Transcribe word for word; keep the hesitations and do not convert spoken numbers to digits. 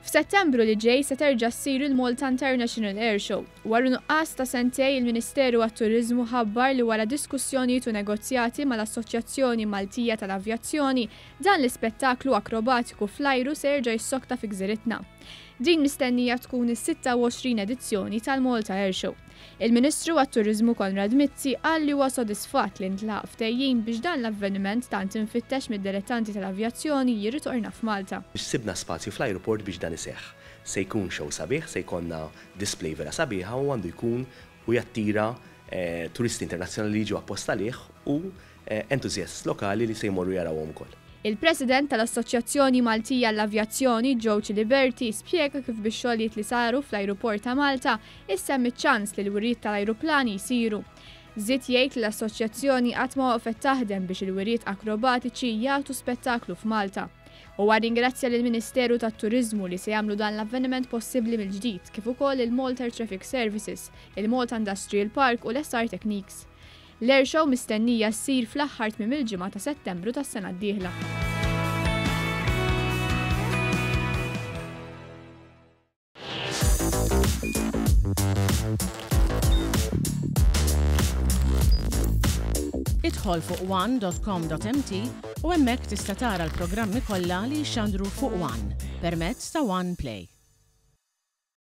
F'Settembru li ġej se terġa' ssir il-Malta International Air Show. Wara nuqqas ta' sentejn, il-Ministeru għat-Turiżmu ħabbar li wara diskussjonijiet u negozjati mal-Assoċjazzjoni Maltija tal-Avjazzjoni, dan l-ispettaklu akrobatiku fl-ajru se jerġa' jissokta fi gżiritna. Din mistennija tkun is-sitta u għoxrin edizzjoni tal-Malta Air Show. Il-Ministru għat-Turiżmu Konrad Mizzi qal li huwa sodisfatt li ntlaħaq ftehim biex dan l-avveniment tant infittex mid-dilettanti tal-avjazzjoni jirritorna f'Malta. Sibna spazju fl-aeroport biex dan iseħħ. Se jkun show sabiħ, se jkollna display vera sabiħa u għandu jkun u jattira eh, turisti internazzjonali li jiġu apposta għalih u eh, entuzjast lokali li se jmorru jarawhom ukoll. Il-President tal-Assoċjazzjoni Maltija l-Avjazzjoni, Joe Ciliberti, spjega kif bix-xogħlijiet li saru fl-ajruport ta' Malta issa hemm iċ-ċans li l-wiriet tal-ajruplani jsiru. Żied jgħid li l-assoċjazzjoni qatt ma waqfet taħdem biex il-wiriet akrobatiċi jagħtu spettaklu f'Malta. U ringrazzja lill-Ministeru tat-Turiżmu li se jagħmlu dan l-avveniment possibbli mill-ġdid, kif ukoll il-Malta Air Traffic Services, il-Malta Industrial Park u l-S R Techniques. L-air show mistennija ssir fl-aħħar tmiem il-ġimgħa ta' Settembru tas-sena d-dieħla. Idħol fuq one dot com dot M T u hemmhekk tista' tara l-programmi kollha li jxandru fuq One permezz ta' One Play.